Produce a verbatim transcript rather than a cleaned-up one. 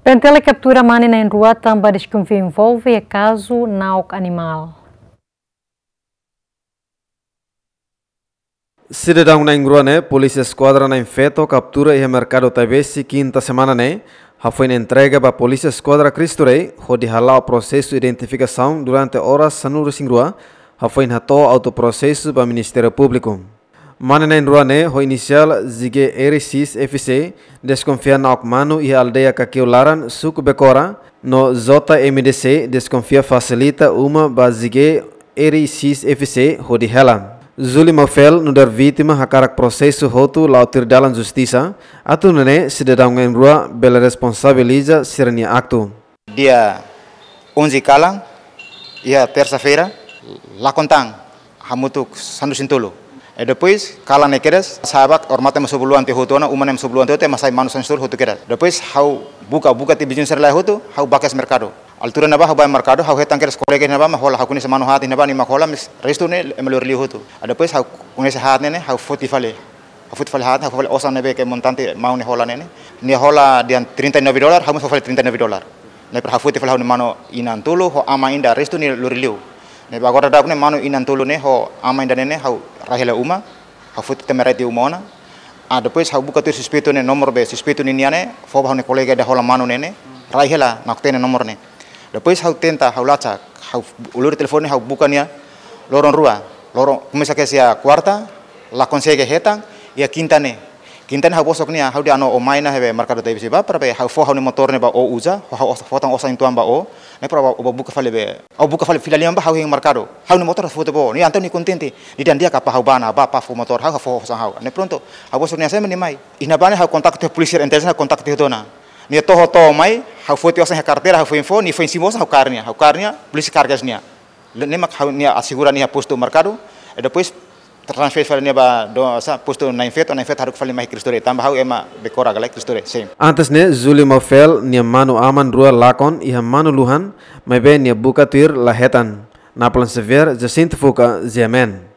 P N T L kaptura mane na'in-rua tanba deskonfia envolve iha kazu na'ok animál. Sidadaun na'in-rua ne'e, Polísia Eskuadra Na'in Feto kaptura iha Merkadu Taibesi, kinta semana ne'e, hafoin entrega ba Polísia Eskuadra Cristo Rei, hodi hala'o prosesu identifikasaun durante oras sanulu-resin-rua, hafoin hato'o autu prosesu ba Ministériu Públiku. Mane na'in-rua ne'e, ho inisiál Z G R X F C, deskonfia na'ok manu iha aldeia Kakeu Laran, suku Bekora, no J M D C, deskonfia fasilita uma ba Z G R X F C hodi hela. Zuli Maufel, nu'udar vítima, hakarak prosesu hotu la'o tuir dalan justisa, atu nune'e sidadaun na'in-rua bele responsabiliza sira-nia aktu. Dia onze kalan, iha tersa-feira, lakon tan, hamutuk sanulu-resin-tolu. E depois, kalan ne'e kedas, sa'e ba, odamatan ema sobu luan tiha hotu ona, uma ne'e ema sobu luan tiha hotu, ema sai manu sanulu-resin-tolu hotu kedas. Depois, ha'u buka, buka tiha viziñu sira-nia laran hotu, ha'u ba kedas merkadu. Altura ne'ebá ha'u ba merkadu, ha'u hetan kedas kolega ne'ebá mak hola, ha'u koñese manu haat ne'ebá nia mak hola, mas restu ne'e ema lori liu hotu. A depois ha'u koñese haat ne'e ne'e, ha'u foti fali. Ha'u foti fali haat, ha'u foti fali osan ne'ebé ke montante maun ne'e hola ne'e ne'e. Nia hola dehan trinta e nove dólar, ha'u mós foti fali trinta e nove dólar. Ne'e para ha'u foti fali ha'u-nia manu inan tolu, ho ama ida restu nia lori liu. Ne'e ba agora daudaun ne'e manu inan tolu ne'e ho ama ida ne'e ne'e ha'u rai hela uma. Ha'u foti tama rai tiha uma ona. Ah, depois ha'u buka tuir suspeitu ne'e, nomor be suspeitu ninian ne'e, fó ba ha'u-nia kolega ida hola manu ne'e ne'e, rai hela, na'ok-teen nia nomor ne'e. Depois ha'u tenta, ha'u lacak, ha'u uluk telefone, ha'u buka nia loron rua. Loron, komesa kedas iha kuarta, la konsege hetan, iha kinta ne'e. Kinta ne'e ha'u bosok nia, ha'u dehan ó mai ona iha be merkadu Taibesi bá, para be ha'u fó ha'u-nia motór ne'e ba ó uza, ha'u, ha'u fó tan osan uitoan ba ó, ne'e para ó, ó buka fali be. Ha'u buka fali fila liman bá ha'u hein merkadu. Ha'u-nia motór fó tiha ba ó. Nia entaun nia kontente. Nia dehan di'ak, kapa ha'u bá ona, bá, bá fó motór ha'u, ha'u fó osan ha'u. Ne'e pronto. Ha'u bosok nia, sé mak nia mai. Iha ne'ebá ne'e ha'u kontaktu polísia, intelijen ha'u kontaktu tiha ona. Nia to'o to'o mai, ha'u foti osan iha karteira, ha'u foin fó, nia foin simu osan ha'u kaer nia, ha'u kaer nia, polísia kaer kedas nia. Ne'e mak ha'u nia asegura nia postu merkadu, e depois transfere fali nia ba do, sa, postu Na'in Feto, Na'in Feto haruka fali mai Cristo Rei, tanba ha'u ema Bekora ka lae, Cristo Rei, sin. Antes ne'e, Zuli Maufel nia manu aman rua lakon iha manu luhan, maibé nia buka tuir la hetan. Napoleon Xavier, Jacinto Fuca, G M N.